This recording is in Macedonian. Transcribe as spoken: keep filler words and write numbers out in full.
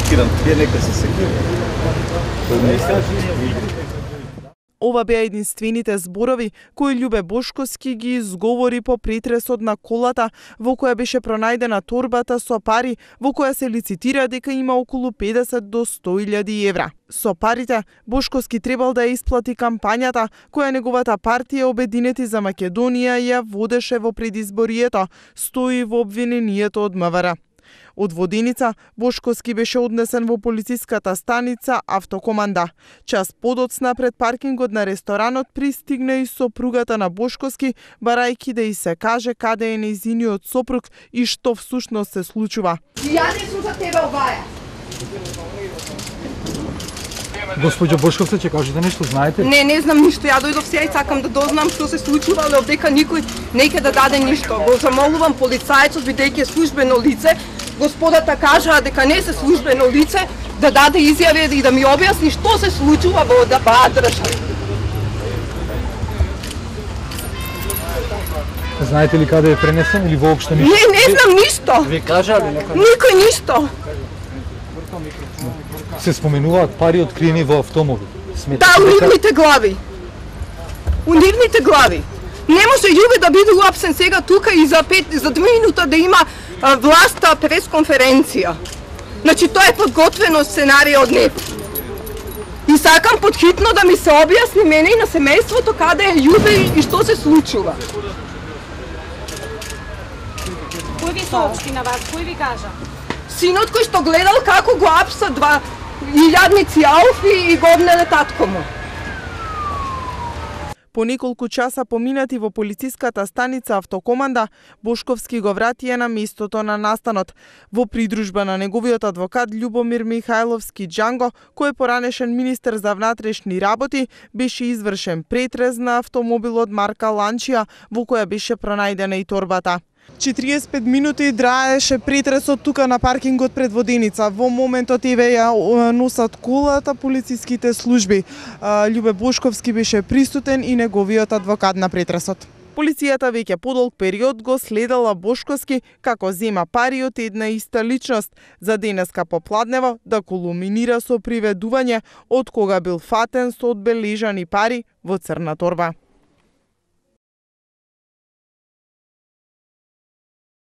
шокиран, тие нека се секира. Ова беа единствените зборови кои Љубе Бошковски ги изговори по претресот на колата во која беше пронајдена торбата со пари во која се лицитира дека има околу педесет до сто илјади евра. Со парите, Бошковски требал да ја исплати кампањата која неговата партија Обединети за Македонија ја водеше во предизборието, стои во обвинението од МВР. Од Воденица, Бошковски беше однесен во полициската станица Автокоманда. Час подоцна пред паркингот на ресторанот пристигна и сопругата на Бошковски, барајќи да и се каже каде е нејзиниот сопруг и што всушност се случува. Ја не сум за тебе оваја. Госпоѓо Бошковска, ќе кажете нешто, знаете? Не, не знам ништо. Ја дојдов сега и сакам да дознам што се случува, але дека никој не ќе да даде ништо. Го замолувам полицајецот, бидејќи е службено лице, господата кажаа дека не се службено лице, да даде изјави и да ми објасни што се случува во да баа држави. Знаете ли каде е пренесен или воопшто ништо? Не, не знам ништо. Ви кажа ли некој? Никој ништо. Се споменуваат пари откриени во автомобил. Да, у нивните глави. У нивните глави. Не може Љубе да биде уапсен сега тука и за пет за две минута да има а, власта пресконференција. Значи тоа е подготвено сценарија од него. И сакам подхитно да ми се објасни мене и на семејството каде е Љубе и што се случува. Кој ви соопшти на вас? Кој ви кажа? Синот кој што гледал како го апса два илјадници ауфи и го обнеле татко му. По неколку часа поминати во полициската станица Автокоманда, Бошковски го вратија на местото на настанот. Во придружба на неговиот адвокат Љубомир Михајловски Џанго, кој е поранешен министер за внатрешни работи, беше извршен претрез на автомобилот марка Ланчија, во која беше пронајдена и торбата. четириесет и пет минути траеше претресот тука на паркингот пред Воденица. Во моментот еве ја носат колата полициските служби. Љубе Бошковски беше присутен и неговиот адвокат на претресот. Полицијата веќе подолг период го следела Бошковски како зема пари од една иста личност, за денеска попладнево да кулминира со приведување од кога бил фатен со одбележани пари во црна торба.